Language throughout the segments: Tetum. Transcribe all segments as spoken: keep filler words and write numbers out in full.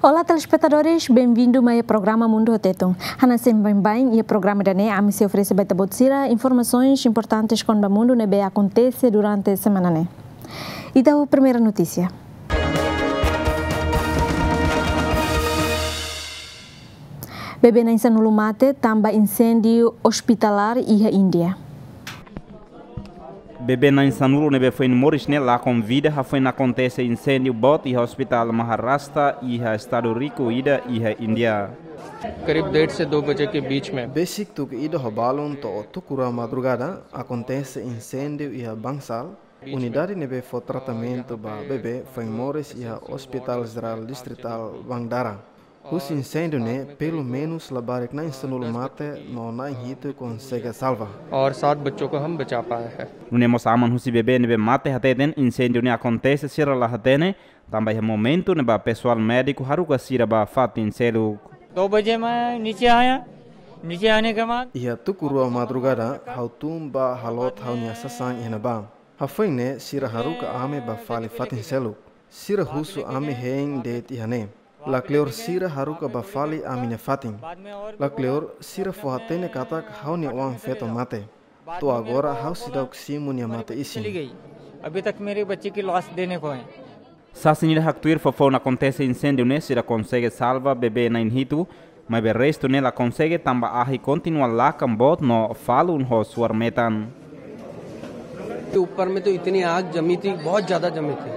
Olá, telespetadores, bem-vindo mai iha programa Mundu ho Tetun. Hanesan baibain iha programa ida-ne'e, ami sei oferese ba ita-boot sira informasaun importante kona-ba mundu ne'ebé akontese durante semana ne'e. Ita ho primeira notísia. Bebé na'in-sanulu mate tanba inséndiu ospitalár iha Índia. Bebé na'in-sanulu ne'ebé foin moris ne'e lakon vida hafoin akontese inséndiu boot iha ospitál Maharashtra iha estadu riku ida iha Índia. करीब डेढ़ से दो बजे के बीच में। Besik tuku ida ho balun to'o tuku rua madrugada akontese inséndiu iha Bansal, unidade ne'ebé fó tratamentu ba bebé foin moris iha Hospital Geral Distrital Bhandara. Husi inséndiu ne'e, pelumenus labarik na'in-sanulu mate no na'in-hitu konsege salva. और सात बच्चों को हम बचा पाए हैं। Nune'e mós aman husi bebé ne'ebé mate hateten inséndiu ne'e akontese sira la hatene, tanba iha momentu ne'ebá pesoál médiku haruka sira ba fatin seluk. दो बजे मैं नीचे आया, नीचे आने के बाद Iha tuku rua madrugada, ha'u tun ba halot ha'u-nia sasán iha ne'ebá. Hafoin ne'e sira haruka ami ba fali fatin seluk. Sira husu ami hein de'it iha ne'e. Lakleur sira haruka ba fali ami-nia fatin. Lakleur sira fó hatene katak ha'u-nia oan-feto mate. To'o agora ha'u seidauk simu nia mate-isin. चली गई। अभी तक मेरे बच्चे की लाश देने को है। Sasin ida haktuir foufoun akontese inséndiu ne'e sira konsege salva bebé na'in-hitu, maibé restu ne'e la konsege tanba ahi kontinua lakan boot no falun ho suar metan. ऊपर में तो इतनी आग जमी थी, बहुत ज्यादा जमी थी,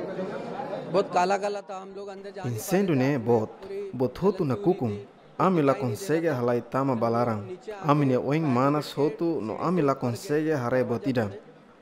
बहुत काला काला था। हम लोग अंदर जाने Inséndiu ne'e boot, buat hotu nakukun. Ami la konsege halai tama ba laran. Ami-nia oin manas hotu no ami la konsege haree buat ida.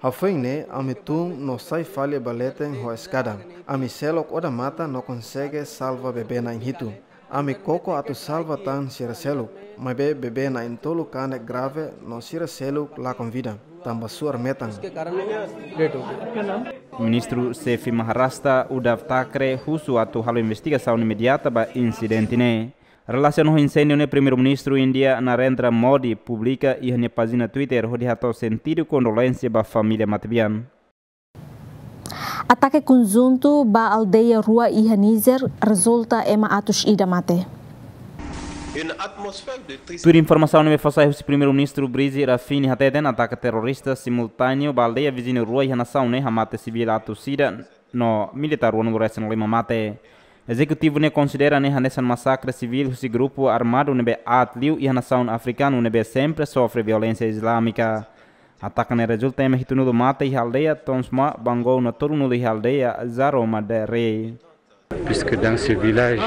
Hafoin ne'e, ami tun no sai fali ba leten ho eskada. Ami seluk odamatan no konsege salva bebé na'in-hitu. Ami koko atu salva tan sira seluk, maibé bebé na'in-tolu kanek grave no sira seluk lakon vida, tanba suar metan. उसके कारण वो डेथ हो गई। Ministru Xefe Maharashtra, Uddhav Thackeray, husu atu halo investigasaun imediata ba insidente ne'e. Relasiona ho inséndiu ne'e, Primeiru-Ministru Índia Narendra Modi publika iha nia pájina Twitter hodi hato'o sentidu kondolénsia ba família matebian. Atake konjuntu ba aldeia rua iha Nízer rezulta ema atus ida mate. Tuir informasaun ne'ebé fó sai husi Primeiru-Ministru Brizi Rafini hateten, atake terrorista simultáneu ba aldeia viziñu rua iha nasaun ne'e hamate sivíl atus ida no militár ruanulu-resin-lima mate. Ezekutivu ne'e konsidera ne'e hanesan masakre sivíl husi grupu armadu ne'ebé aat liu iha nasaun afrikanu ne'ebé sempre sofre violénsia islámika. Atake ne'e rezulta ema hitunulu mate iha aldeia Tonsma Bangou no tolunulu iha aldeia Zaroma Dere. Puisque dans ce village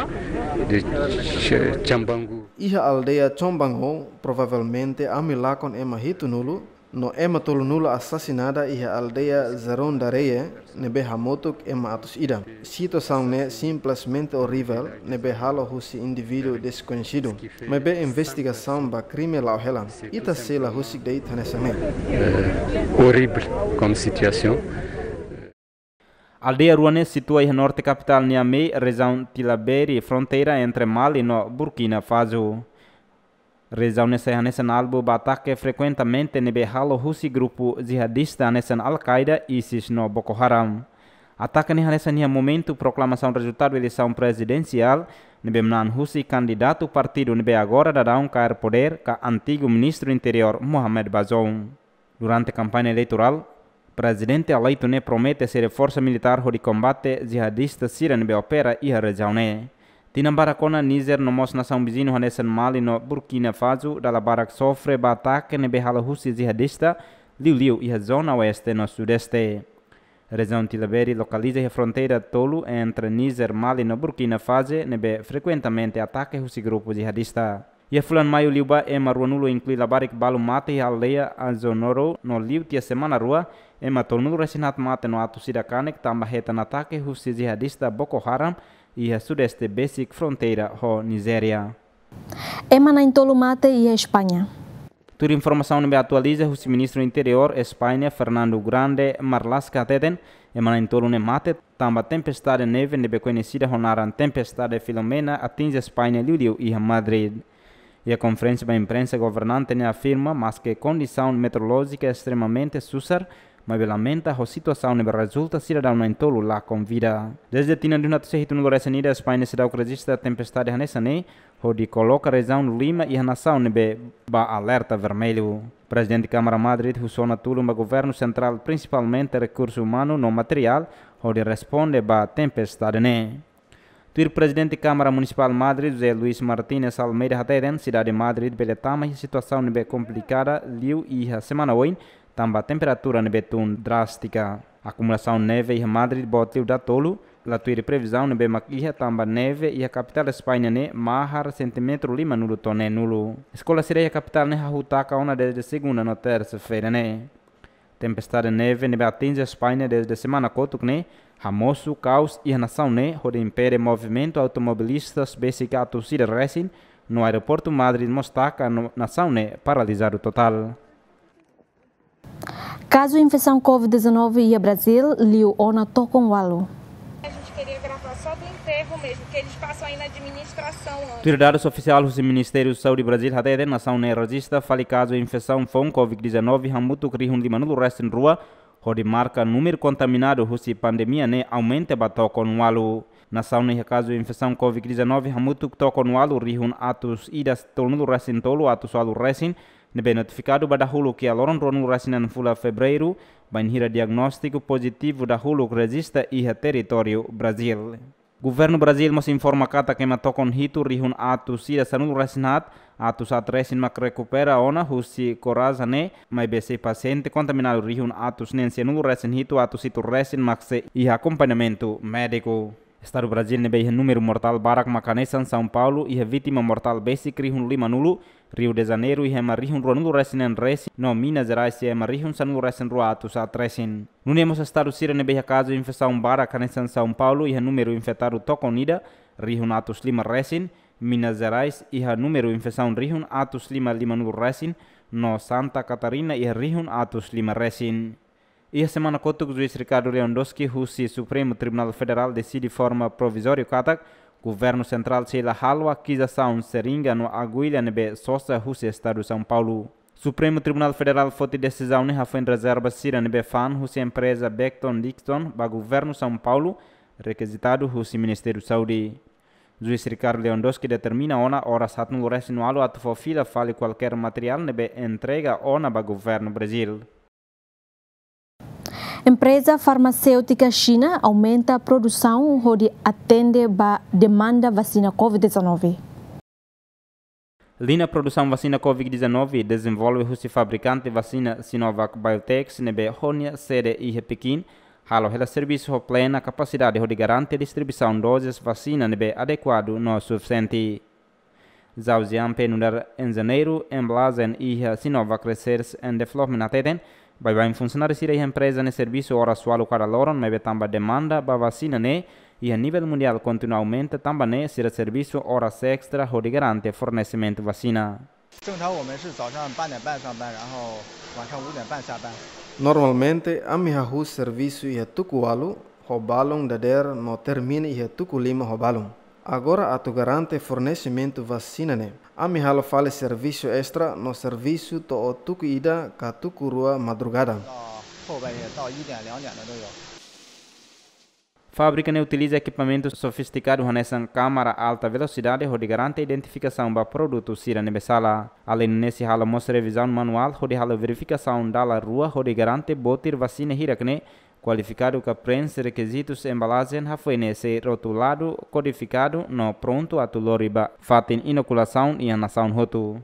de Ch-, Chambangu. Iha aldeia Chombango, provavelmente ami lakon ema hitunulu, no ema tolunulu asasinada iha aldeia Zarondareye, ne'ebé hamutuk ema atus ida. Situasaun ne'e simplesmente orrível, ne'ebé halo husi indivíduu deskoñesidu. Maibé investigasaun ba krime la'o hela. Ita sei la husik de'it hanesan ne'e. Eh, horrible comme situation. Aldeia rua ne'e situa iha norte kapitál Niamey, rejiaun Tillabéri, fronteira entre Mali no Burkina Faso. Rejiaun ne'e sai hanesan alvu ba atake frekuentemente ne'ebé halo husi grupu jihadista hanesan Al-Qaeda, ISIS no Boko Haram. Atake ne'e hanesan iha momentu proklamasaun rezultadu eleisaun prezidensiál ne'ebé manán husi kandidatu partidu ne'ebé agora daudaun kaer podér ka antigu Ministru Interiór Mohamed Bazoum. Durante kampaña eleitorál, prezidente eleitu ne'e promete sei reforsa militár hodi kombate jihadista sira ne'ebé opera iha rejiaun ne'e. Tinan barak ona Nízer no mós nasaun viziñu hanesan Mali no Burkina Faso dala barak sofre ba atake ne'ebé halo husi jihadista, liuliu iha zona oeste no sudeste. Rejiaun Tillabéri lokaliza iha fronteira tolu entre Nízer, Mali no Burkina Faso ne'ebé frekuentemente atake husi grupu jihadista. Iha fulan Maiu liubá ema ruanulu inklui labarik balu mate iha aldeia Azonoro no liu tiha semana rua, ema tolunulu-resin-haat mate no atus ida kanek tanba hetan atake husi jihadista Boko Haram iha sudeste besik fronteira ho Nizéria. Ema na'in-tolu mate iha España. Tuir informasaun ne'ebé atualiza husi Ministru Interiór España, Fernando Grande Marlaska hateten, ema na'in-tolu ne'e mate tanba tempestade neve ne'ebé koñesida ho naran Tempestade Filomena atinje España liuliu iha Madrid. Iha konferénsia ba imprensa governante ne'e afirma, maske kondisaun meteorolójika estremamente susar, maibé lamenta ho situasaun ne'ebé rezulta sidadaun na'in-tolu lakon vida. Dezde tinan rihun atus sia hitunulu resin ida España seidauk rejista tempestade hanesan ne'e, hodi koloka rejiaun lima iha nasaun ne'ebé ba alerta vermellu. Prezidente Kámara Madrid husu ona tulun ba governu sentrál, prinsipalmente rekursu umanu no materiál, hodi responde ba tempestade ne'e. Tuir Prezidente Kámara Munisipál Madrid, José Luis Martínez Almeida hateten, sidade Madrid bele tama iha situasaun ne'ebé komplikada liu iha semana oin, tanba temperatura ne'ebé tun drástika. Akumulasaun neve iha Madrid boot liu datolu, la tuir previzaun ne'ebé mak iha, tanba neve iha kapitál España ne'e mahar sentímetru limanulu to'o neenulu. Eskola sira iha kapitál ne'e hahú taka ona dezde segunda no tersa-feira ne'e. Tempestade neve ne'ebé atinje España dezde semana kotuk ne'e hamosu kaos iha nasaun ne'e, hodi impede movimentu automobilistas besik atus ida resin, no aeroportu Madrid mós taka no nasaun ne'e paralizadu totál. Kazu infesaun covid dezanove iha Brazil liu ona tokon ualu. A gente queria gravar só do enterro mesmo, que eles passam aí na administração antes. Tuir dadus ofisiál husi Ministériu Saúde Brazil hateten, nasaun ne'e rejista fali kazu infesaun foun covid dezanove hamutuk rihun limanulu resin rua, hodi marka númeru kontaminadu husi pandemia ne'e aumenta ba tokon ualu. Nasaun ne'e iha kazu infesaun covid dezanove hamutuk tokon ualu rihun atus ida tolunulu resin tolu atus ualu resin, ne'ebé notifikadu ba dahuluk iha loron ruanulu resin neen fulan Fevereiru, bainhira diagnóstiku pozitivu dahuluk rejista iha territóriu Brazil. Governu Brazil mós informa katak ema tokon hitu rihun atus ida sanulu resin haat, atus haat resin mak rekupera ona husi Coraza ne'e, maibé sei pasiente kontaminadu rihun atus neen sianulu resin hitu, atus hitu resin mak sei iha akompañamentu médiku. Estadu Brazil ne'ebé iha númeru mortál barak mak hanesan São Paulo iha vítima mortál besik rihun limanulu, Rio de Janeiro iha ema rihun ruanulu resin neen resin, no Minas Gerais iha ema rihun sanulu resin rua atus haat resin. Nune'e mós estadu sira ne'ebé iha kazu infesaun barak hanesan São Paulo iha númeru infetadu tokon ida rihun atus lima resin, Minas Gerais iha númeru infesaun rihun atus lima limanulu resin, no Santa Catarina iha rihun atus lima resin. Iha semana kotuk, Juís Ricardo Lewandowski husi Supremu Tribunál Federál deside forma provizóriu katak governu sentrál sei la halo akizasaun seringa no aguilla ne'ebé sosa husi estadu São Paulo. Supremu Tribunál Federál foti desizaun ne'e hafoin rezerva sira ne'ebé fa'an husi empreza Becton Dickinson ba governu São Paulo, rekizitadu husi Ministériu Saúde. Juís Ricardo Lewandowski determina ona oras haatnulu resin ualu atu fó fila fali kualkér materiál ne'ebé entrega ona ba governu Brazil. Empreza farmaséutika Xina aumenta produsaun hodi atende ba demanda vasina covid dezanove. Liña produsaun vasina covid dezanove dezenvolve husi fabrikante vasina Sinovac Biotech ne'ebé ho nia sede iha Pekin, halo hela servisu ho plena kapasidade hodi garante distribuisaun dozes vasina ne'ebé adekuadu no sufisiente. Zhao Xianpei nu'udar enjeñeiru embalajen iha Sinovac Research and Development hateten, baibain funsionáriu sira iha empreza ne'e servisu oras ualu kada loron, maibé tanba demanda ba vasina ne'e iha nivel mundiál kontinua aumenta, tanba ne'e sira servisu oras estra hodi garante fornesimentu vasina. 正常我们是早上八点半上班，然后晚上五点半下班。 Normalmente, ami hahú servisu iha tuku ualu ho balun dadeer no termina iha tuku lima ho balun. Agora atu garante fornesimentu vasina ne'e, ami halo fali servisu estra no servisu to'o tuku ida ka tuku rua madrugada. 到后半夜到一点、两点的都有。 Fábrika ne'e utiliza ekipamentu sofistikadu hanesan kámara alta velosidade hodi garante identifikasaun ba produtu sira ne'ebé sala. Aleinde ne'e sei halo mós revizaun manuál hodi halo verifikasaun dala rua hodi garante botir vasina hirak ne'e kualifikadu ka preenxe rekizitus embalajen, hafoin ne'e sei rotuladu, kodifikadu no prontu atu lori ba fatin inokulasaun iha nasaun hotu.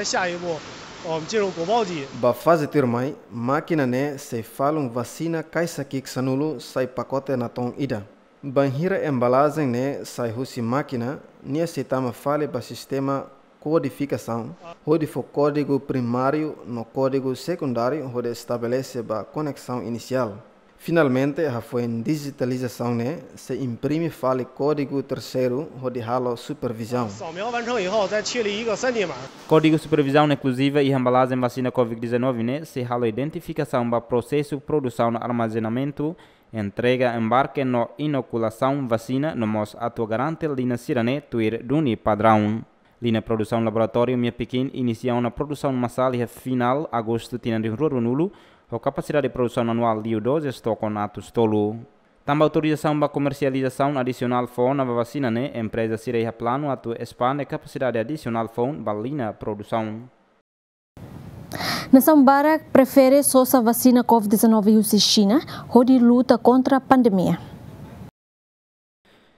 下一步，我们进入鼓包机。 Ba faze tuirmai, mákina ne'e sei falun vasina kaixa ki'ik sanulu sai pakote natoon ida. Bainhira embalajen ne'e sai husi mákina, nia sei tama fali ba sistema kodifikasaun, hodi fó kódigu primáriu no kódigu sekundáriu hodi estabelese ba koneksaun inisiál. Finalmente, hafoin dijitalizasaun ne'e, sei imprime fali kódigu terseiru hodi halo supervizaun. 扫描完成以后，再确立一个三D码。 Kódigu supervizaun inkluziva iha embalajen vasina covid dezanove ne'e sei halo identifikasaun ba prosesu produsaun, armazenamentu, entrega, embarke no inokulasaun vasina, no mós atu garante liña sira ne'e tuir duni padraun. Liña produsaun laboratóriu Mia Pekin inisia ona produsaun masál iha finál agostu tinan rihun rua ruanulu, ho kapasidade produsaun anuál liu doze tokon atus tolu. Tanba autorizasaun ba komersializasaun adisionál fó ona ba vasina ne'e, empreza sira iha planu atu espande kapasidade adisionál foun ba liña produsaun. Nasaun barak prefere sosa vasina covid dezanove husi Xina, hodi luta kontra pandemia.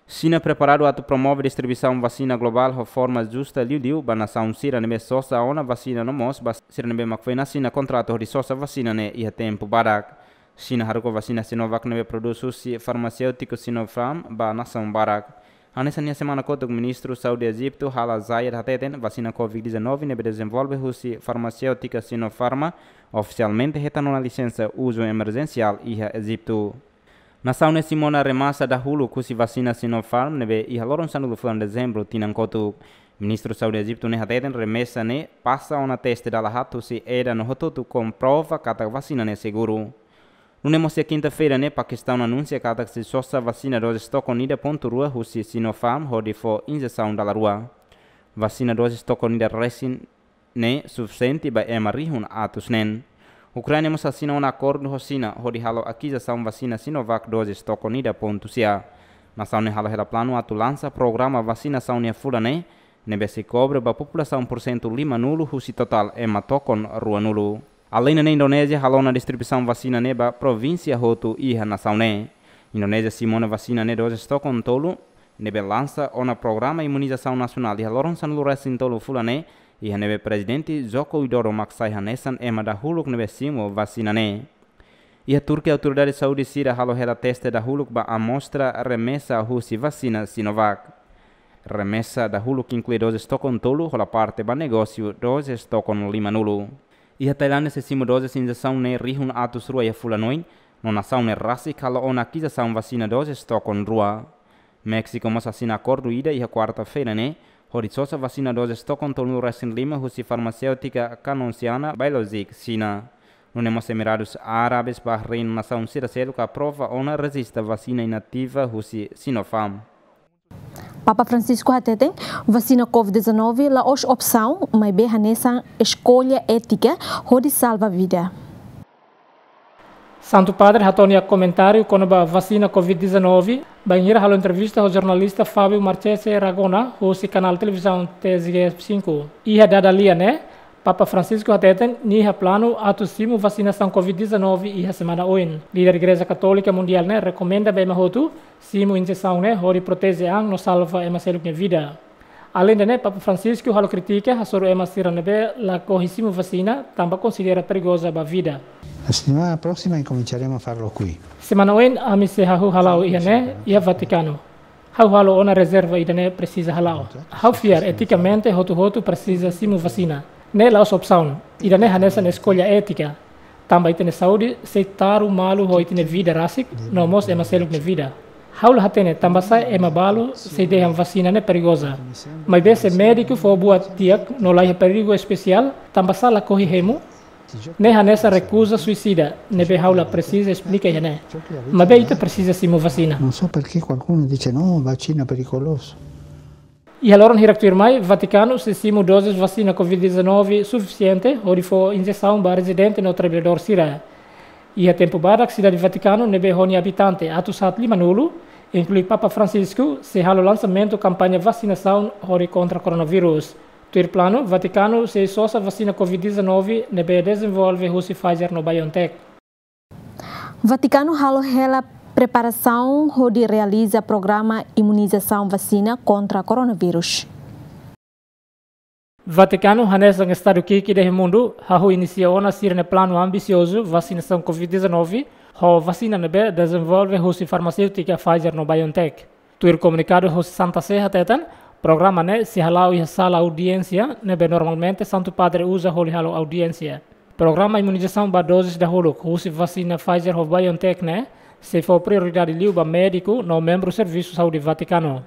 Xina preparadu atu promove distribuisaun vasina globál ho forma justa liuliu ba nasaun sira ne'ebé sosa ona vasina no mós ba sira ne'ebé mak foin asina kontratu hodi sosa vasina ne'e iha tempu badak. Xina haruka vasina Sinovac ne'ebé prodús husi farmaseútiku Sinopharm ba nasaun barak. Hanesan iha semana kotuk, Ministru Saúde Ejitu Hala Zayed hateten, vasina covid dezanove ne'ebé dezenvolve husi farmaseútika Sinopharm ofisialmente hetan ona lisensa uzu emerjensiál iha Ejitu. Nasaun ne'e simu ona remesa dahuluk husi vasina Sinopharm ne'ebé iha loron sanulu fulan Dezembru tinan kotuk. Ministru Saúde Ejitu ne'e hateten, remesa ne'e pasa ona teste dala haat husi eda no hotu-hotu komprova katak vasina ne'e seguru. Nune'e mós iha kinta-feira ne'e, Pakistaun anunsia katak sei sosa vasina dozes tokon ida pontu rua husi Sinopharm hodi fó injesaun dala rua. Vasina dozes tokon ida resin ne'e sufisiente ba ema rihun atus neen. Ukraina mós asina ona akordu ho Xina hodi halo akizasaun vasina Sinovac dozes tokon ida pontu sia. Nasaun ne'e halo hela planu atu lansa programa vasinasaun iha fulan ne'e, ne'ebé sei kobre ba populasaun pursentu limanulu husi totál ema tokon ruanulu. Aleinde ne'e, Indonézia halo ona distribuisaun vasina ne'e ba provínsia hotu iha nasaun ne'e. Indonézia simu ona vasina ne'e dozes tokon tolu, ne'ebé lansa ona programa imunizasaun nasionál iha loron sanulu resin tolu fulan ne'e, iha ne'ebé Prezidente Joko Widodo mak sai hanesan ema dahuluk ne'ebé simu vasina ne'e. Iha Turkia, autoridade saúde sira halo hela teste dahuluk ba amostra remesa husi vasina Sinovac. Remesa dahuluk inklui dozes tokon tolu, hola parte ba negósiu dozes tokon limanulu. Iha Tailándia sei simu dozes injesaun ne'e rihun atus rua iha fulan oin, no nasaun ne'e rasik halo ona akizasaun vasina dozes tokon rua. Méxiku mós asina akordu ida iha kuarta-feira ne'e, hodi sosa vasina dozes tokon tolunulu resin lima husi farmaseútika Canonsiana Biologic Xina. Nune'e mós Emiradus Árabes, Bahrein, nasaun sira seluk aprova ona rejista vasina inativa husi Sinopharm. Papa Francisco hateten, vasina covid dezanove la'ós opsaun, maibé hanesan eskolla étika hodi salva vida. Santu Padre hato'o nia komentáriu kona-ba vasina covid dezanove, bainhira halo entrevista ho jornalista Fábio Marchese Ragona, husi kanál televizaun T S G cinco. Iha dada lia ne'e, Papa Francisco hateten, nia iha planu atu simu vasinasaun covid dezanove iha semana oin. Líder Igreja Katólika Mundiál ne'e rekomenda ba ema hotu simu injesaun ne'e hodi proteje an no salva ema seluk nia vida. Aleinde ne'e, Papa Francisco halo kritika hasoru ema sira ne'ebé lakohi simu vasina, tanba konsidera perigoza ba vida. La settimana prossima incominceremo a farlo qui. Semana oin ami sei hahú hala'o iha ne'e, iha Vatikanu. Ha'u halo ona rezerva ida-ne'e presiza hala'o. Ha'u fiar etikamente hotu-hotu presiza simu vasina. Ne'e la'ós opsaun. Ida-ne'e hanesan eskolla étika. Tanba ita-nia saúde sei taru malu ho ita-nia vida rasik, no mós ema seluk nia vida. Ha'u la hatene tanbasá ema balu sei dehan vasina ne'e perigoza. Maibé se médiku fó buat di'ak no la iha perigu espesiál, tanbasá lakohi hemu? Ne'e hanesan rekuza suisida, ne'ebé ha'u la presiza esplika iha ne'e. Maibé ita presiza simu vasina. Non so perché qualcuno dice: "No, vaccino è pericoloso." Iha loron hirak tuirmai, Vatikanu sei simu dozes vasina covid dezanove sufisiente hodi fó injesaun ba rezidente no traballadór sira. Iha tempu badak, sidade Vatikanu ne'ebé ho nia abitante atus haat limanulu, inklui Papa Francisco, sei halo lansamentu kampaña vasinasaun hodi kontra koronavírus. Tuir planu, Vatikanu sei sosa vasina covid dezanove ne'ebé dezenvolve husi Pfizer no BioNTech. Vatikanu halo hela preparasaun hodi realiza programa imunizasaun vasina kontra koronavírus. Vatikanu, hanesan estadu ki'ik ida iha mundu, hahú inisia ona sira-nia planu ambisiozu vasinasaun covid dezanove ho vasina ne'ebé dezenvolve husi farmaseútika Pfizer no BioNTech. Tuir komunikadu husi Santa Sé hateten, programa ne'e sei hala'o iha sala audiénsia ne'ebé normalmente Santu Padre uza hodi halo audiénsia. Programa imunizasaun ba dozes dahuluk husi vasina Pfizer ho BioNTech ne'e sei fó prioridade liu ba médiku no membru servisu saúde Vatikanu.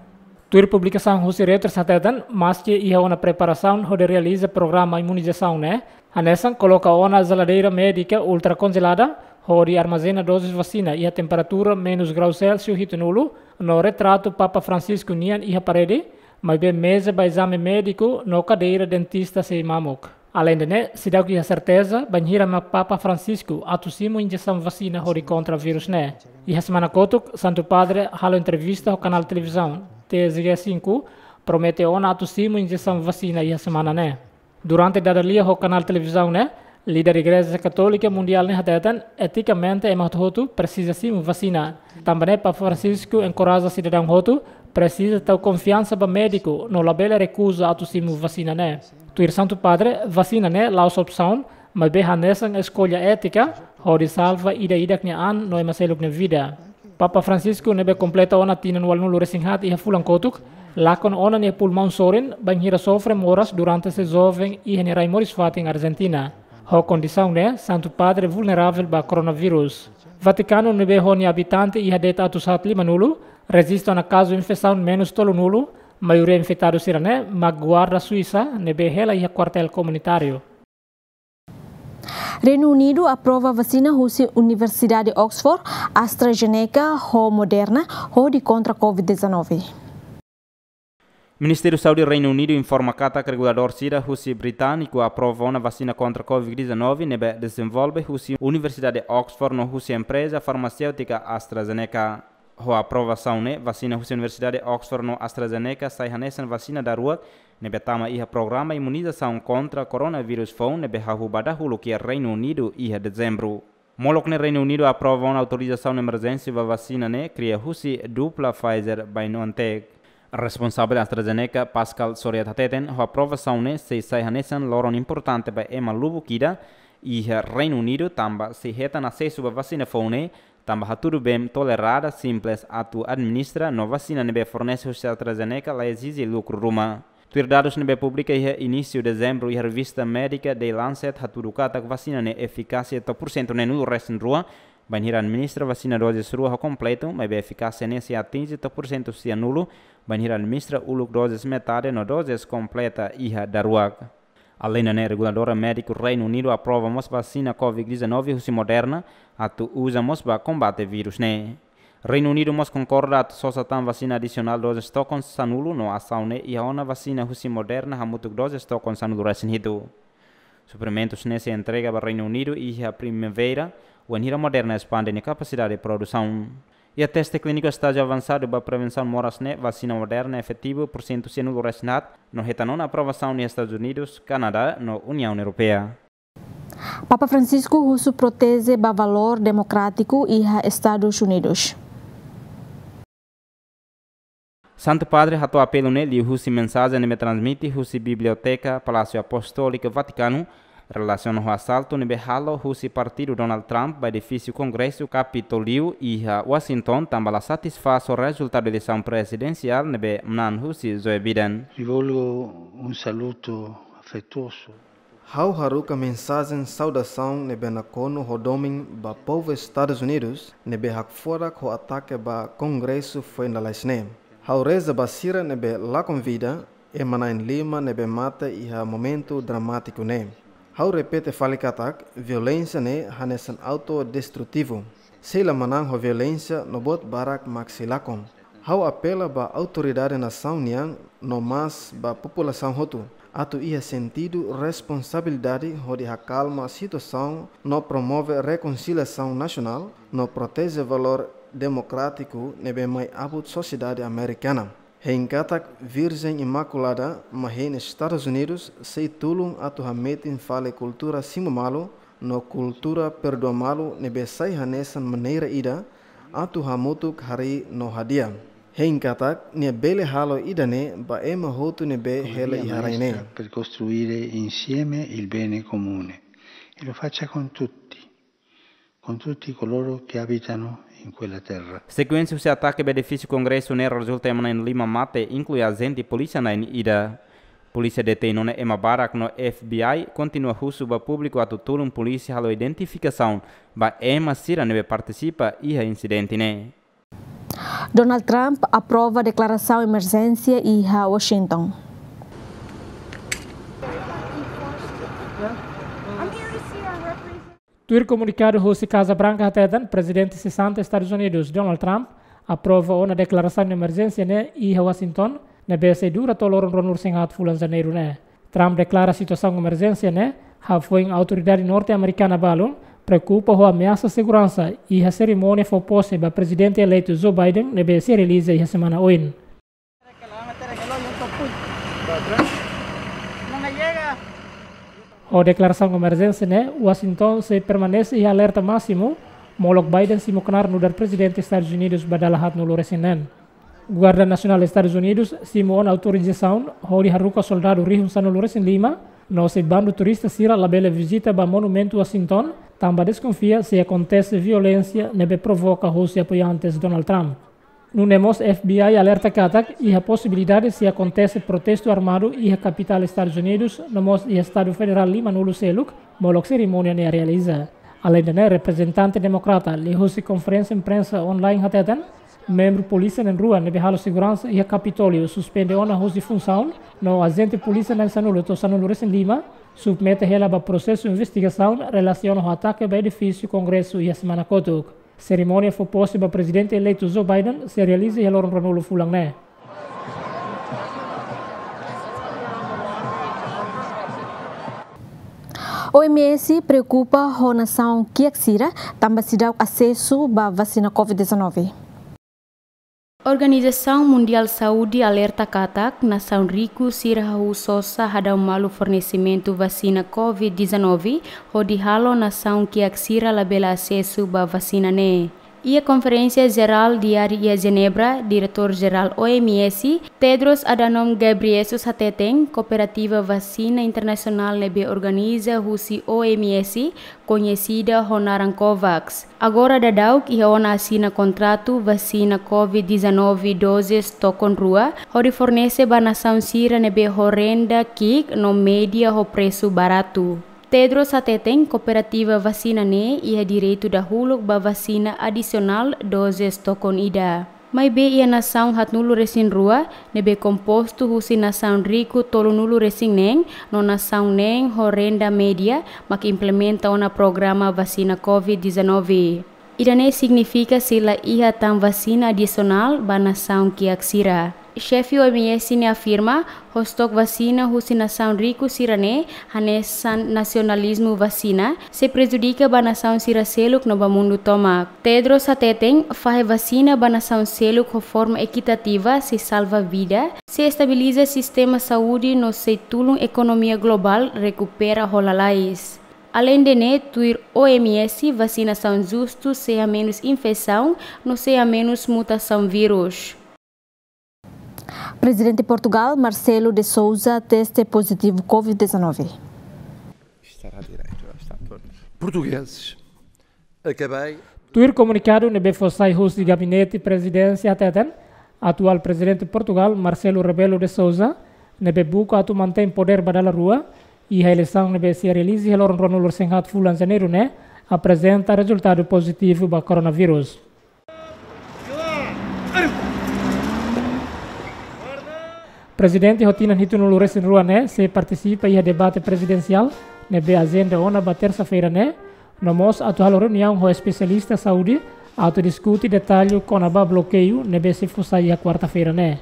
Tuir publikasaun husi Reuters hateten, maski iha ona preparasaun hodi realiza programa imunizasaun ne'e, hanesan koloka ona jeladeira médika ultrakonjelada hodi armazena dozes vasina iha temperatura menus grau Celsius hitunulu, no retratu Papa Francisco nian iha parede, maibé meza ba ezame médiku no kadeira dentista sei mamuk. Aleinde ne'e, seidauk iha serteza bainhira mak Papa Francisco atu simu injesaun vasina hodi kontra virus ne'e. Iha semana kotuk, Santu Padre halo entrevista ho kanál televizaun T Z G cinco, promete ona atu simu injesaun vasina iha semana ne'e. Durante dada lia ho kanál televizaun ne'e, líder Igreja Katólika Mundiál ne'e hateten, etikamente ema hotu-hotu presiza simu vasina. Tanba ne'e Papa Francisco enkoraja sidadaun hotu, presiza tau konfiansa ba médiku, no labele rekuza atu simu vasina ne'e. Tuir Santu Padre, vasina ne'e la'ós opsaun, maibé hanesan eskolla étika, hodi salva ida-idak nia an no ema seluk nia vida. Papa Francisco ne'ebé kompleta ona tinan ualunulu resin haat iha fulan kotuk, lakon ona nia pulmaun sorin, bainhira sofre moras durante sei joven iha nia rai moris-fatin Argentina. Ho kondisaun ne'e, Santu Padre vulneravel ba koronavírus. Vatikanu ne'ebé ho nia abitante iha de'it atus haat limanulu, rejista ona kazu infesaun menus tolunulu, maioria infetadu sira-ne'e mak guarda Suisa ne'ebé hela iha kuartél komunitáriu. Reinu Unidu aprova vasina husi Universidade Oxford, AstraZeneca ho Moderna hodi kontra covid dezanove. Ministériu Saúde Reinu Unidu informa katak reguladór sira husi britániku aprova ona vasina kontra covid dezanove ne'ebé dezenvolve husi Universidade Oxford no husi empreza farmaséutika AstraZeneca. Ho aprovasaun ne'e, vasina husi Universidade Oxford no AstraZeneca sai hanesan vasina daruak ne'ebé tama iha programa imunizasaun kontra koronavírus foun ne'ebé hahú ba dahuluk iha Reinu Unidu iha Dezembru. Molok ne'e Reinu Unidu aprova ona autorizasaun emerjénsia ba vasina ne'e kria husi dupla Pfizer-BioNTech. Responsavel AstraZeneca, Pascal Soriot hateten, ho aprovasaun ne'e sei sai hanesan loron importante ba ema lubuk ida iha Reinu Unidu tanba sei hetan asesu ba vasina foun ne'e, tanba hatudu bee tolerada, simples atu administra, no vasina ne'ebé fornese husi AstraZeneca la ezije lukru ruma. Tuir dadus ne'ebé publika iha inísiu Dezembru iha revista médika The Lancet hatudu katak vasina ne'e efikásia to'o pursentu neenulu resin rua bainhira administra vasina dozes rua ho kompletu, maibé efikásia ne'e sei atinje to'o pursentu sianulu bainhira administra uluk dozes metade no dozes kompleta iha daruak. Aleinde ne'e, reguladora médiku Reinu Unidu aprova mós vasina covid dezanove husi Moderna atu uza mós ba kombate vírus ne'e. Reinu Unidu mós konkorda atu sosa tan vasina adisionál dozes tokon sanulu no asaun ne'e iha ona vasina husi Moderna hamutuk dozes tokon sanulu resin hitu. Suprimentus ne'e sei entrega ba Reinu Unidu iha primavera, wainhira Moderna espande nia kapasidade produsaun. Iha teste klíniku estájiu avansadu ba prevensaun moras ne'e, vasina Moderna efetivu pursentu sianulu resin haat, no hetan ona aprovasaun iha Estadus Unidus, Kanadá no Uniaun Europeia. Papa Francisco husu proteje ba valór demokrátiku iha Estadus Unidus. Santu Padre hato'o apelu ne'e liuhusi mensajen ne'ebé transmite husi Biblioteka Palásiu Apostóliku Vatikanu, relasiona ho asaltu ne'ebé halo husi partidu Donald Trump ba edifísiu Kongresu Kapitoliu iha Washington, tanba la satisfás ho rezultadu eleisaun prezidensiál ne'ebé manán husi Joe Biden. Rivolgo un saluto affettuoso. Ha'u haruka mensajen saudasaun ne'ebé nakonu ho domin ba povu Estadus Unidus ne'ebé hakfodak ho atake ba Kongresu foin lalais ne'e. Ha'u reza ba sira ne'ebé lakon vida, ema na'in lima ne'ebé mate iha momentu dramátiku ne'e. Ha'u repete fali katak, violénsia ne'e hanesan autodestrutivu. Sei la manán ho violénsia no buat barak mak sei lakon. Ha'u apela ba autoridade nasaun nian no mós ba populasaun hotu, atu iha sentidu responsabilidade hodi hakalma situasaun no promove rekonsiliasaun nasionál no proteje valór demokrátiku ne'ebé mai abut sosiedade amerikana. Hein katak Virjen Imakulada mak hein Estadus Unidus sei tulun atu hametin fali kultura simu malu no kultura perdua malu ne'ebé sai hanesan maneira ida atu hamutuk harii no hadi'a. Hein katak nia bele halo ida-ne'e ba ema hotu ne'ebé hela iha rai ne'e. Per costruire insieme il bene comune. E lo faccia con tutti, con tutti coloro che abitano in quella terra. Sekuénsia husi atake ba edifísiu Kongresu ne'e rezulta ema na'in lima mate, inklui ajente polísia na'in ida. Polísia detein ona ema barak no F B I kontinua husu ba públiku atu tulun polísia halo identifikasaun ba ema sira ne'ebé partisipa iha insidente ne'e. Donald Trump aprova deklarasaun emerjénsia iha Washington. Tuir komunikadu husi Kaza Branka hateten, Prezidente sesante Estadus Unidus, Donald Trump, aprova ona deklarasaun emerjénsia ne'e iha Washington, ne'ebé sei dura to'o loron ruanulu resin haat fulan Janeiru ne'e. Trump deklara situasaun emerjénsia ne'e hafoin autoridade norte-amerikana balun preokupa ho ameasa seguransa iha serimónia fó pose ba prezidente eleitu Joe Biden ne'ebé sei realiza iha semana oin. Ho deklarasaun emerjénsia ne'e, Washington sei permanese iha alerta másimu, molok Biden simu knaar nu'udar prezidente Estadus Unidus ba dala haatnulu resin neen. Guarda Nasionál Estadus Unidus simu ona autorizasaun hodi haruka soldadu rihun sanulu resin lima, no sei bandu turista sira labele vizita ba Monumentu Washington, tanba deskonfia sei akontese violénsia ne'ebé provoka husi apoiantes Donald Trump. Nune'e mós F B I alerta katak iha posibilidade sei akontese protestu armadu iha kapitál Estadus Unidus, no mós iha estadu federál limanulu seluk, molok serimónia ne'e realiza. Aleinde ne'e, reprezentante demokrata liuhusi konferénsia imprensa online hateten, membru polísia na'in rua ne'ebé halo seguransa iha Kapitóliu suspende ona husi funsaun, no ajente polísia na'in sanulu to'o sanulu resin lima submete hela ba prosesu investigasaun relasiona ho atake ba edifísiu Kongresu iha semana kotuk. Serimónia fó pose ba prezidente eleitu Joe Biden sei realiza iha loron ruanulu fulan ne'e. O M S preokupa ho nasaun kiak sira tanba seidauk asesu ba vasina covid dezanove. Organizasaun Mundiál Saúde alerta katak nasaun riku sira hahú sosa hadau malu fornesimentu vasina covid dezanove, hodi halo nasaun kiak sira labele asesu ba vasina ne'e. Iha konferénsia jerál di'ak iha Jenebra, Diretór Jerál O M S, Tedros Adhanom Ghebreyesus hateten, kooperativa vasina internasionál ne'ebé organiza husi O M S, koñesida ho naran COVAX, agora daudaun iha ona asina kontratu vasina covid dezanove dozes tokon rua, hodi fornese ba nasaun sira ne'ebé ho renda ki'ik no média ho presu baratu. Tedros hateten kooperativa vasina ne'e iha direitu dahuluk ba vasina adisionál dozes tokon ida. Maibé iha nasaun haatnulu resin rua, ne'ebé kompostu husi nasaun riku tolunulu resin neen, no nasaun neen ho renda média, mak implementa ona programa vasina covid dezanove. Ida-ne'e signifika sei la iha tan vasina adisionál ba nasaun kiak sira. Xefe O M S ne'e afirma, ho estok vasina husi nasaun riku sira-ne'e, hanesan nasionalizmu vasina, sei prejudika ba nasaun sira seluk no ba mundu tomak. Tedros hateten, fahe vasina ba nasaun seluk ho forma ekitativa sei salva vida, sei estabiliza sistema saúde no sei tulun ekonomia globál rekupera ho lalais. Aleinde ne'e, tuir O M S, vasinasaun justu sei hamenus infesaun no sei hamenus mutasaun vírus. Prezidente Portugál, Marcelo de Sousa, teste pozitivu covid dezanove. Estará direito, já está tudo. Portugueses, acabei. Tuir komunikadu ne'ebé fó sai husi Gabinete Prezidénsia hateten, atuál Prezidente Portugál, Marcelo Rebelo de Sousa, ne'ebé buka atu mantein podér ba dala rua, iha eleisaun ne'ebé sei realiza iha loron ruanulu resin haat fulan Janeiru ne'e, aprezenta rezultadu pozitivu ba koronavírus. Prezidente ho tinan hitunulu resin rua ne'e sei partisipa iha debate prezidensiál ne'ebé ajenda ona ba tersa-feira ne'e, no mós atu halo reuniaun ho espesialista saúde atu diskute detalle kona-ba blokeiu ne'ebé sei fó sai iha kuarta-feira ne'e.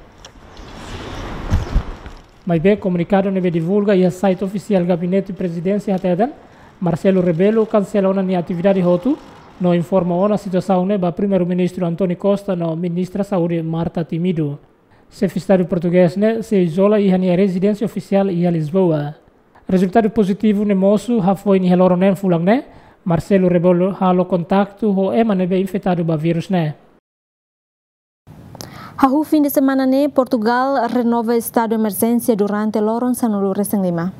Maibé komunikadu ne'ebé divulga iha site ofisiál Gabinete Prezidénsia hateten, Marcelo Rebelo kansela ona nia atividade hotu, no informa ona situasaun ne'e ba Primeiru-Ministru António Costa no Ministra Saúde Marta Temido. Xefe Estadu portugés ne'e sei izola iha nia rezidénsia ofisiál iha Lisboa. Rezultadu pozitivu ne'e mosu hafoin iha loron neen fulan ne'e, Marcelo Rebelo halo kontaktu ho ema ne'ebé infetadu ba vírus ne'e. Hahú fin de semana ne'e, Portugál renova estadu emerjénsia durante loron sanulu resin lima.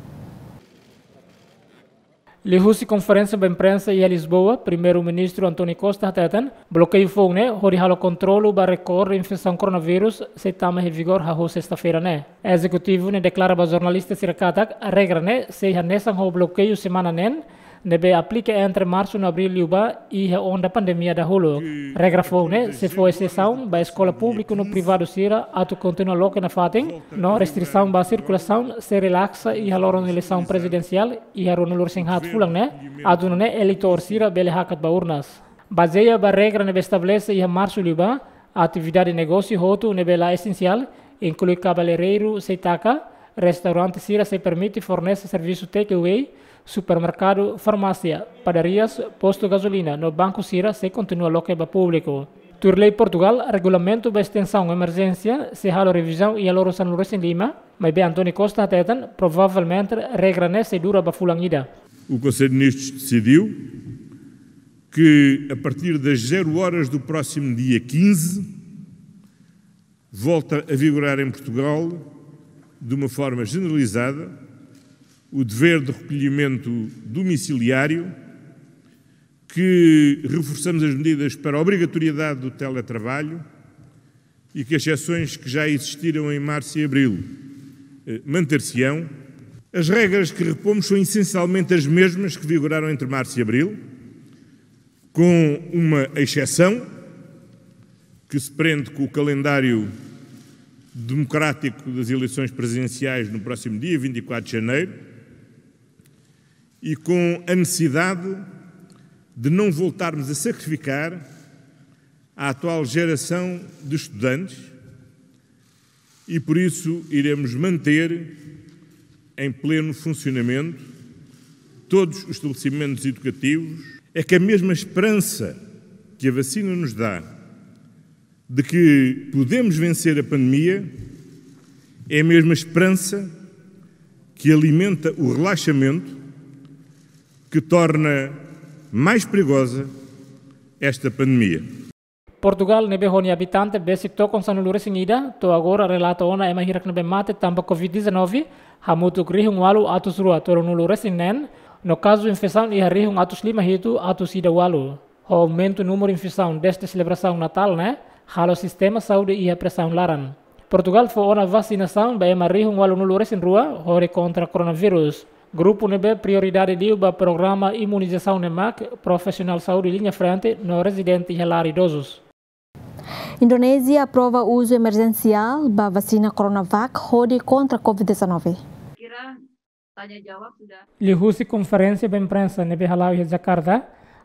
Liuhusi konferénsia ba imprensa iha Lisboa, Primeiru-Ministru António Costa hateten, blokeiu foun ne'e hodi halo kontrolu ba rekorde infesaun koronavírus sei tama iha vigór hahú sesta-feira ne'e. Ezekutivu ne'e deklara ba jornalista sira katak regra ne'e sei hanesan ho blokeiu semana neen ne'ebé aplika entre marsu no abríl liubá iha onda pandemia dahuluk. Regra foun ne'e sei fó ezesaun ba eskola públiku no privadu sira atu kontinua loke nafatin, no restrisaun ba sirkulasaun sei relaksa iha loron eleisaun prezidensiál iha ruanulu resin haat fulan ne'e, atu nune'e eleitór sira bele hakat ba urnas. Bazeia ba regra ne'ebé estabelese iha marsu liubá, atividade negósiu hotu ne'ebé la esensiál, inklui kabeleireiru sei taka, Restaurante sira sei permite fornese servisu takeaway, supermerkadu, farmásia, padarias, postu gazolina no banku sira sei kontinua loke ba públiku. Tuir lei Portugal, regulamentu ba estensaun emerjénsia sei halo revizaun iha loron sanulu-resin-lima, maibé António Costa hateten provavelmente regra ne'e sei dura ba fulan ida. O Conselho de Ministros decidiu que, a partir das zero horas do próximo dia quinze, volta a vigorar em Portugal, de uma forma generalizada, o dever de recolhimento domiciliário, que reforçamos as medidas para a obrigatoriedade do teletrabalho e que as exceções que já existiram em março e abril, eh, manter-se-ão. As regras que repomos são essencialmente as mesmas que vigoraram entre março e abril, com uma exceção que se prende com o calendário democrático das eleições presidenciais no próximo dia vinte e quatro de janeiro e com a necessidade de não voltarmos a sacrificar a atual geração de estudantes e, por isso, iremos manter em pleno funcionamento todos os estabelecimentos educativos. É que a mesma esperança que a vacina nos dá de que podemos vencer a pandemia é a mesma esperança que alimenta o relaxamento que torna mais perigosa esta pandemia. Portugal ne'ebé ho nia abitante besik tokon sanulu-resin-ida, to'o agora relata ona ema hirak ne'ebé mate tanba covid dezanove, hamutuk rihun ualu atus rua tolunulu-resin-neen, no kazu infesaun iha rihun atus lima hitu atus ida ualu. Ho aumentu númeru infesaun dezde selebrasaun Natál ne'e, halo sistema saúde iha presaun laran. Portugal fó ona vasinasaun ba ema rihun ualunulu-resin-rua hodi kontra koronavírus. Grupu ne'ebé prioridade liu ba programa imunizasaun ne'e mak profisionál saúde liña frente no rezidente iha lar idozus. Indonézia aprova uzu emerjensiál ba vasina Coronavac hodi kontra covid dezanove. Liuhusi konferénsia ba imprensa ne'ebé hala'o iha Jakarta,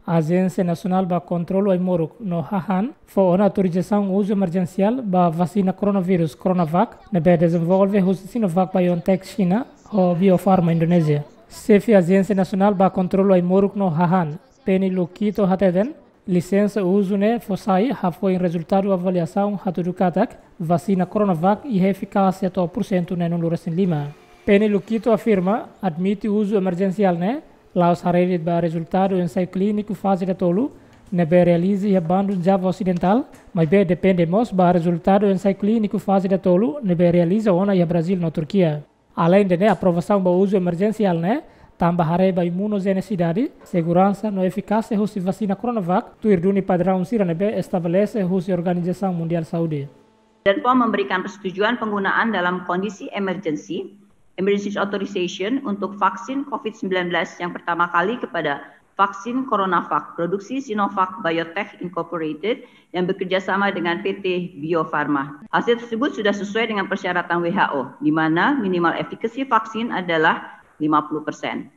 Ajénsia Nasionál ba Kontrolu Ai-moruk no Hahán fó ona autorizasaun uzu emerjensiál ba vasina koronavírus Coronavac ne'ebé dezenvolve husi Sinovac BioNTech Xina ho Bio Farma Indonézia. Xefe Ajénsia Nasionál ba Kontrolu Ai-moruk no Hahán, Penny Lukito hateten, lisensa uzu ne'e fó sai hafoin rezultadu avaliasaun hatudu katak vasina Coronavac iha efikásia to'o pursentu neenulu-resin-lima. Penny Lukito afirma, admite uzu emerjensiál ne'e la'ós haree de'it ba rezultadu ensaiu klíniku faze datolu ne'ebé realiza iha Bandung, Java Osidentál, maibé depende mós ba rezultadu ensaiu klíniku faze datolu ne'ebé realiza ona iha Brazíl no Turkia. Aleinde ne'e, aprovasaun ba uzu emerjensiál ne'e tanba haree ba imunojenisidade, seguransa no efikásia husi vasina Coronavac, tuir duni padraun sira ne'ebé estabelese husi Organizasaun Mundiál Saúde. Dan pom memberikan persetujuan penggunaan dalam kondisi emergency, emergency authorization, untuk vaksin covid sembilan belas yang pertama kali kepada vaksin Coronavac produksi Sinovac Biotech Incorporated yang bekerja sama dengan P T Bio Farma. Hasil tersebut sudah sesuai dengan persyaratan W H O, di mana minimal efikasi vaksin adalah lima puluh persen.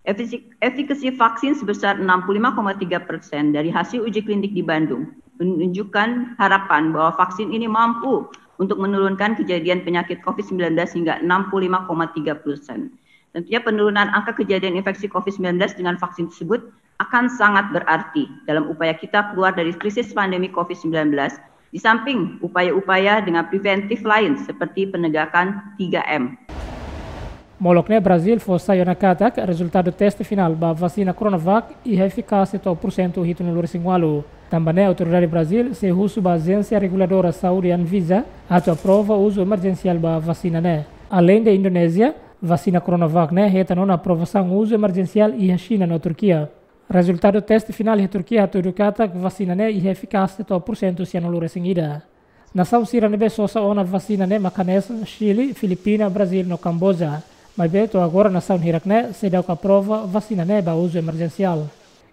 Efisi-, efikasi vaksin sebesar enam puluh lima koma tiga persen dari hasil uji klinik di Bandung menunjukkan harapan bahwa vaksin ini mampu untuk menurunkan kejadian penyakit covid sembilan belas hingga enam puluh lima koma tiga persen. Tentunya penurunan angka kejadian infeksi covid sembilan belas dengan vaksin tersebut akan sangat berarti dalam upaya kita keluar dari krisis pandemi covid sembilan belas, di samping upaya-upaya dengan preventif lain seperti penegakan tiga M. Molok ne'e, Brazíl fó sai ona katak rezultadu teste finál ba vasina Coronavac iha efikásia to'o pursentu hitunulu-resin-ualu. Tanba ne'e, autoridade Brazíl sei husu ba Ajénsia Reguladora Saúde Anvisa atu aprova uzu emerjensiál ba vasina ne'e. Aleinde Indonézia, vasina Coronavac ne'e hetan ona aprovasaun uzu emerjensiál iha Xina no Turkia. Rezultadu teste finál iha Turkia hatudu katak vasina ne'e iha efikásia to'o pursentu sianulu-resin-ida. Nasaun sira ne'ebé sosa ona vasina ne'e mak hanesan Xile, Filipina, Brazíl no Kamboja. Maibé to'o agora nasaun hirak ne'e seidauk aprova vasina ne'e ba uzu emerjensiál.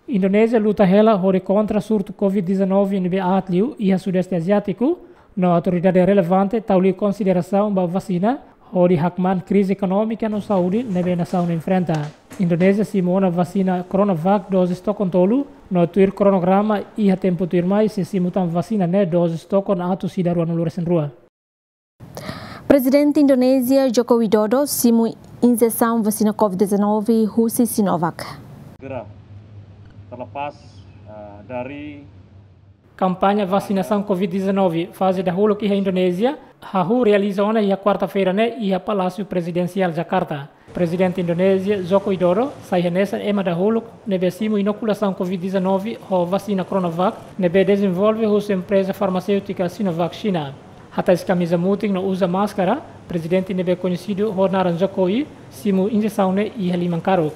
Indonézia luta hela hodi kontra surtu covid dezanove ne'ebé aat liu iha Sudeste Aziátiku, no autoridade relevante tau liu konsiderasaun ba vasina hodi hakmaan krize ekonómika no saúde ne'ebé nasaun enfrenta. Indonézia simu ona vasina Coronavac dozes tokon tolu, no tuir kronograma iha tempu tuirmai sei simu tan vasina ne'e dozes tokon atus ida ruanulu-resin-rua. Prezidente Indonézia Joko Widodo simu injesaun vasina covid dezanove husi Sinovac. Segera terlepas, eh, dari Kampaña vasinasaun covid dezanove faze dahuluk iha Indonézia hahú realiza ona iha kuarta-feira ne'e iha Palásiu Prezidensiál Jakarta. Prezidente Indonézia Joko Widodo sai hanesan ema dahuluk ne'ebé simu inokulasaun covid dezanove ho vasina Coronavac ne'ebé dezenvolve husi empreza farmaséutika Sinovac Xina. Hatais kamiza mutin no uza máskara, prezidente ne'ebé koñesidu ho naran Jokowi simu injesaun ne'e iha liman karuk.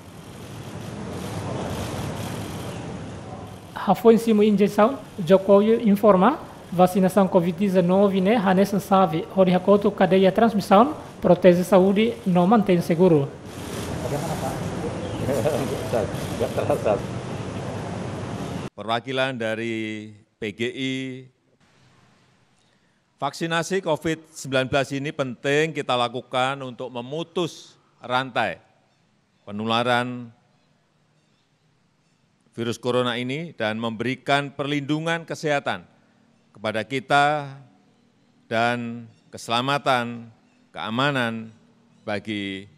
Hafoin simu injesaun, Jokowi informa, vasinasaun covid dezanove ne'e hanesan xave hodi hakotu kadeia transmisaun, proteje saúde no mantein seguru. Perwakilan dari P G I, vaksinasi covid sembilan belas ini penting kita lakukan untuk memutus rantai penularan virus corona ini dan memberikan perlindungan kesehatan kepada kita dan keselamatan, keamanan bagi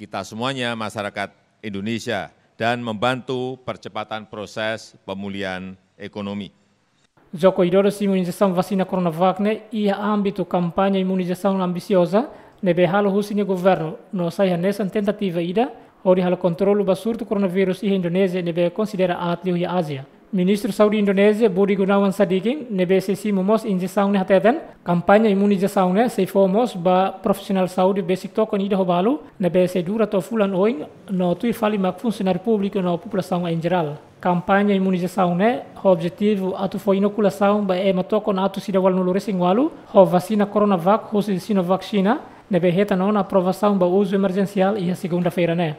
kita semuanya, masyarakat Indonesia, dan membantu percepatan proses pemulihan ekonomi. Joko Widodo simu injesaun vasina Coronavac ne'e iha ámbitu kampaña imunizasaun ambisioza ne'ebé halo husi nia governu no sai hanesan tentativa ida hodi halo kontrolu ba surtu koronavírus iha Indonézia ne'ebé konsidera aat liu iha Ázia. Ministru Saúde Indonézia Budi Gunawan Sadikin ne'ebé sei simu mós injesaun ne'e hateten, kampaña imunizasaun ne'e sei fó mós ba profisionál saúde besik tokon ida ho balu ne'ebé sei dura to'o fulan oin no tuir fali mak funsionáriu públiku no populasaun em geral. Kampaña imunizasaun ne'e ho objetivu atu fó inokulasaun ba ema tokon atus ida ualunulu resin ualu ho vasina Coronavac husi Sinovac Xina ne'ebé hetan ona aprovasaun ba uzu emerjensiál iha segunda-feira ne'e.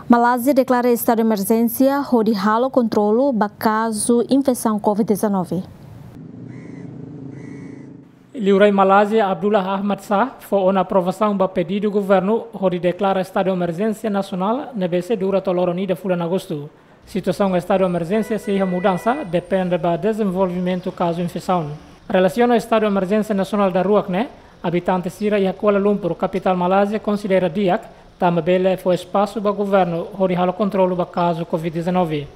Malázia deklara estadu emerjénsia hodi halo kontrolu ba kazu infesaun covid dezanove. Liurai Malázia Abdullah Ahmad Shah fó ona aprovasaun ba pedidu governu hodi deklara estadu emerjénsia nasionál ne'ebé sei dura to'o loron ida fulan Agostu. Situasaun estadu emerjénsia sei iha mudansa, depende ba dezenvolvimentu kazu infesaun. Relasiona estadu emerjénsia nasionál daruak ne'e, abitante sira iha Kuala Lumpur, kapitál Malázia, konsidera di'ak, tanba bele fó espasu ba governu hodi halo kontrolu ba kazu covid dezanove.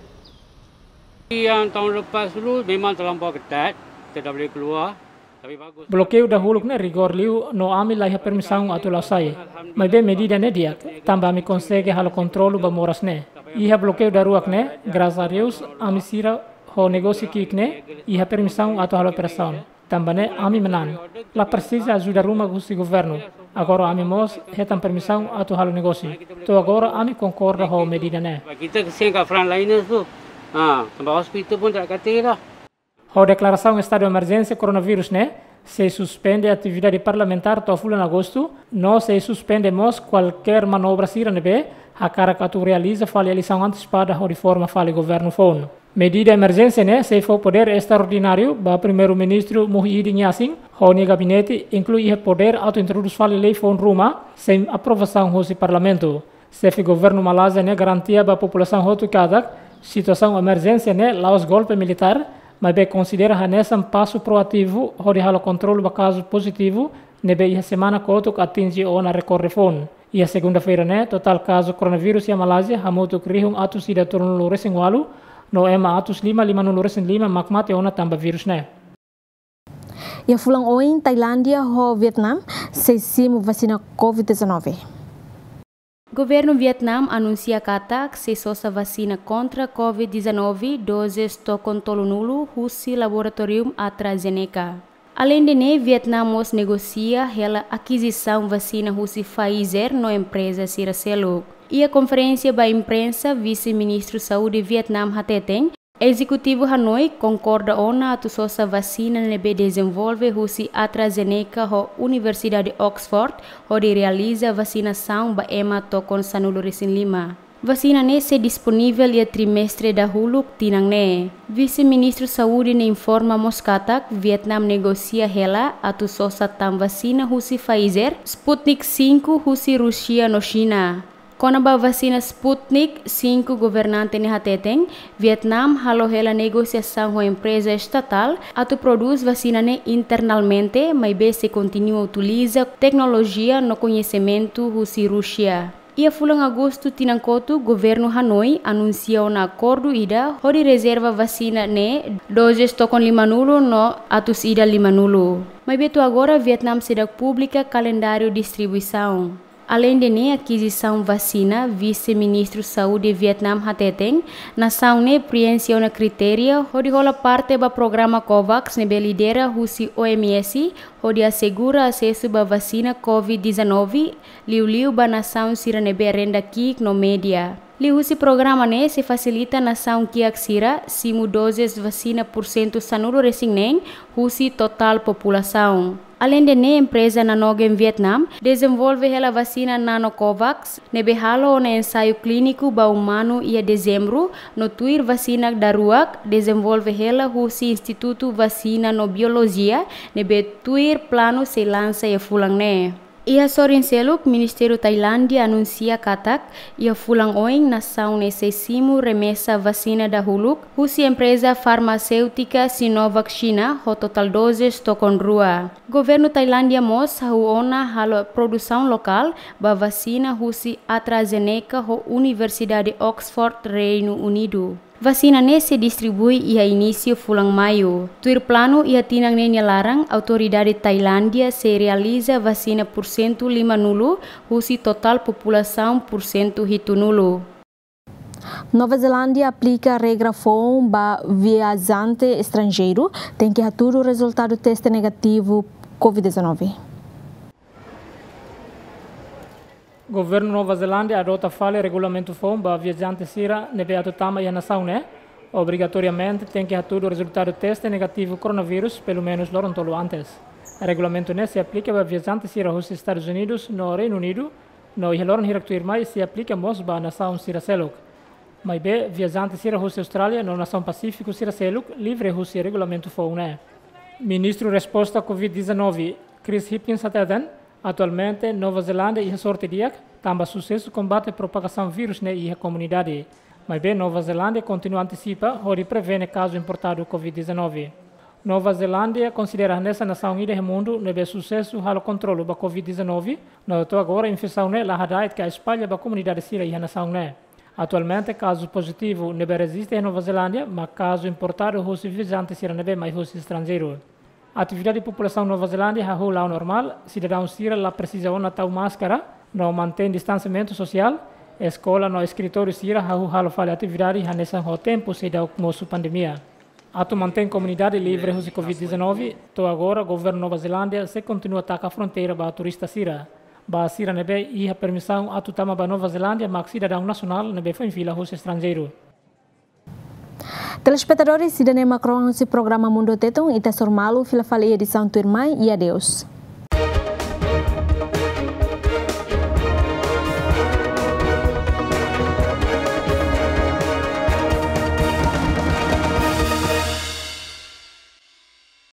Yang tahun lepas dulu memang terlampau ketat, tidak boleh keluar. Tapi bagus. Blokeiu dahuluk ne'e rigór liu no ami la iha permisaun atu la'o sai. Maibé medida ne'e di'ak, tanba ami konsege halo kontrolu ba moras ne'e. Iha blokeiu daruak ne'e, grasas a Deus, ami sira ho negósiu ki'ik ne'e iha permisaun atu halo operasaun. Tanba ne'e ami manán. La presiza ajuda ruma husi governu. Agora ami mós hetan permisaun atu halo negósiu. To'o agora ami konkorda ho medida ne'e. Kita kesian ka frontliners tu. Ha, tanba hospital pun tak kati lah. Ho deklarasaun estadu emerjénsia koronavírus ne'e, sei suspende atividade parlamentár to'o fulan Agostu, no sei suspende mós kualkér manobra sira ne'ebé hakarak atu realiza fali eleisaun antesipada hodi forma fali governu foun. Medida emerjénsia ne'e sei fó podér estraordináriu ba Primeiru-Ministru Muhyiddin Yassin ho nia gabinete, inklui iha podér atu introdús fali lei foun ruma sein aprovasaun husi parlamentu. Xefe governu Malázia ne'e garantia ba populasaun hotu katak situasaun emerjénsia ne'e la'ós golpe militár, maibé konsidera hanesan pasu proativu hodi halo kontrolu ba kazu pozitivu ne'ebé iha semana kotuk atinje ona rekorde foun. Iha segunda-feira ne'e, totál kazu koronavírus iha Malázia hamutuk rihun atus ida tolunulu resin ualu, no ema atus lima limanulu resin lima mak mate ona tanba vírus ne'e. Iha fulan oin, Tailándia ho Vietnam sei simu vasina covid dezanove. Governu Vietnam anunsia katak sei sosa vasina kontra covid dezanove dozes tokon tolunulu husi laboratóriu AstraZeneca. Aleinde ne'e, Vietnam mós negosia hela akizisaun vasina husi Pfizer no empreza sira seluk. Iha konferénsia ba imprensa, Vise-Ministru Saúde Vietnam hateten, ezekutivu Hanoi konkorda ona atu sosa vasina ne'ebé dezenvolve husi AstraZeneca ho Universidade Oxford hodi realiza vasinasaun ba ema tokon sanulu resin lima. Vasina ne'e sei disponivel iha trimestre dahuluk tinan ne'e. Vise-Ministru Saúde ne'e informa mós katak Vietnam negosia hela atu sosa tan vasina husi Pfizer, Sputnik cinco husi Rúsia no Xina. Kona-ba vasina Sputnik cinco, governante ne'e hateten, Vietnam halo hela negosiasaun ho empreza estatál atu prodús vasina ne'e internamente, maibé sei kontinua utiliza teknolojia no koñesimentu husi Rúsia. Iha fulan Agostu tinan kotuk, governu Hanoi anunsia ona akordu ida hodi rezerva vasina ne'e dozes tokon limanulu no atus ida limanulu. Maibé to'o agora Vietnam seidauk publika kalendáriu distribuisaun. Aleinde ne'e akizisaun vasina, Vise-Ministru Saúde Vietnam hateten, nasaun ne'e prienxe ona kritéria hodi hola parte ba programa COVAX ne'ebé lidera husi O M S, hodi asegura asesu ba vasina covid dezanove, liuliu ba nasaun sira ne'ebé renda ki'ik no média. Liuhusi programa ne'e sei fasilita nasaun kiak sira simu dozes vasina pursentu sanulu-resin-neen husi totál populasaun. Aleinde ne'e, empreza Nanogen Vietnam dezenvolve hela vasina NanoCovax, ne'ebé halo ona ensaiu klíniku ba umanu iha Dezembru, no tuir vasina daruak dezenvolve hela husi Institutu Vasina no Biolojia, ne'ebé tuir planu sei lansa iha fulan ne'e. Iha sorin seluk, Ministériu Tailándia anunsia katak, iha fulan oin nasaun ne'e sei simu remesa vasina dahuluk husi empreza farmaséutika Sinovac Xina ho totál dozes tokon rua. Governu Tailándia mós hahú ona halo produsaun lokál ba vasina husi AstraZeneca ho Universidade Oxford, Reinu Unidu. Vasina ne'e sei distribui iha inísiu fulan Maiu. Tuir planu, iha tinan ne'e nia laran, autoridade Tailándia sei realiza vasina pursentu limanulu husi totál populasaun pursentu hitunulu. Nova Zelándia aplika regra foun ba viajante estranjeiru tenke hatudu rezultadu teste negativu covid dezanove. Governu Nova Zelándia adota fali regulamentu foun ba viajante sira ne'ebé atu tama iha nasaun ne'e, obrigatoriamente tenke hatudu rezultadu teste negativu koronavírus pelumenus loron tolu antes. Regulamentu ne'e sei aplika ba viajante sira husi Estadus Unidus no Reinu Unidu, no iha loron hirak tuirmai sei aplika mós ba nasaun sira seluk. Maibé, viajante sira husi Austrália no nasaun Pasífiku sira seluk livre husi regulamentu foun ne'e. Ministru Resposta covid dezanove, Chris Hipkins hateten, atualmente Nova Zelándia iha sorte di'ak, tanba susesu kombate propagasaun vírus ne'e iha komunidade. Maibé, Nova Zelándia kontinua antisipa hodi prevene kazu importadu covid dezanove. Nova Zelándia konsidera hanesan nasaun ida iha mundu ne'ebé susesu halo kontrolu ba covid dezanove, no to'o agora infesaun ne'e la hada'et ka espalla ba komunidade sira iha nasaun ne'e. Atualmente, kazu pozitivu ne'ebé rejista iha Nova Zelándia mak kazu importadu husi viajante sira ne'ebé mai husi estranjeiru. Atividade populasaun Nova Zelándia hahú la'o normál, sidadaun sira la presiza ona tau máskara, no mantein distansiamentu sosiál, eskola no eskritóriu sira hahú halo fali atividade hanesan ho tempu seidauk mosu pandemia. Atu mantein komunidade livre husi covid dezanove, to'o agora governu Nova Zelándia sei kontinua taka fronteira ba turista sira. Ba sira ne'ebé iha permisaun atu tama ba Nova Zelándia mak sidadaun nasionál ne'ebé foin fila husi estranjeiru. Telespetadores, ida-ne'e mak rohan husi programa Mundu Tetun, ita hasoru malu fila fali iha edisaun tuirmai, i adeus.